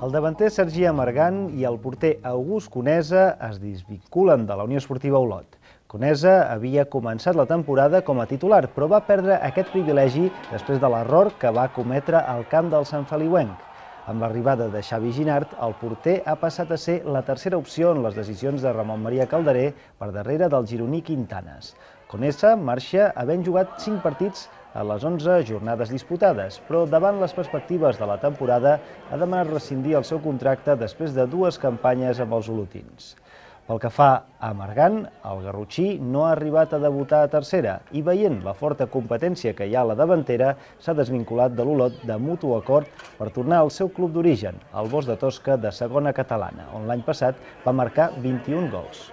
El davanter Sergi Amargant i el porter August Conesa es desvinculen de la Unió Esportiva Olot. Conesa havia començat la temporada com a titular, però va perdre aquest privilegi després de l'error que va cometre al camp del Sant Feliuenc. Amb l'arribada de Xavi Ginart, el porter ha passat a ser la tercera opció en les decisions de Ramon Maria Calderé per darrere del gironí Quintanes. Conesa marxa havent jugat 5 partits a les 11 jornades disputades, però davant les perspectives de la temporada ha demanat rescindir el seu contracte després de 2 campanyes amb els olotins. Pel que fa a Amargant, el garrotxí no ha arribat a debutar a tercera i veient la forta competència que hi ha a la davantera s'ha desvinculat de l'Olot de mutu acord per tornar al seu club d'origen, el Bosch de Tosca de segona catalana, on l'any passat va marcar 21 gols.